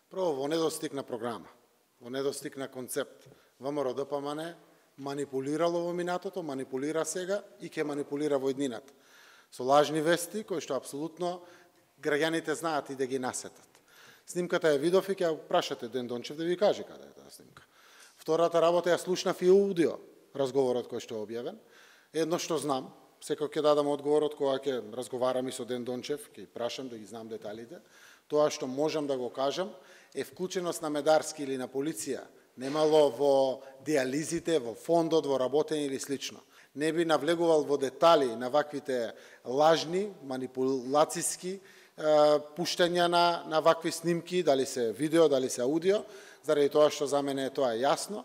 Прво, во недостиг на програма, во недостиг на концепт. ВМРО ДПМН манипулирало во минатото, манипулира сега и ќе манипулира во иднината. Со лажни вести, кои што апсолутно граѓаните знаат и да ги насетат. Снимката ја видов и ќе прашате Ден Дончев да ви каже каде е таа снимка. Втората работа ја слушнав и аудио разговорот кој што е објавен. Едно што знам, секој ќе дадам одговорот кога ќе разговарам и со Ден Дончев, ќе прашам да ги знам деталите. Тоа што можам да го кажам е вклученост на Медарски или на полиција немало во диализите, во фондот, во работење или слично. Не би навлегувал во детали на ваквите лажни, манипулацијски пуштања на вакви снимки, дали се видео, дали се аудио, заради тоа што за мене тоа е јасно.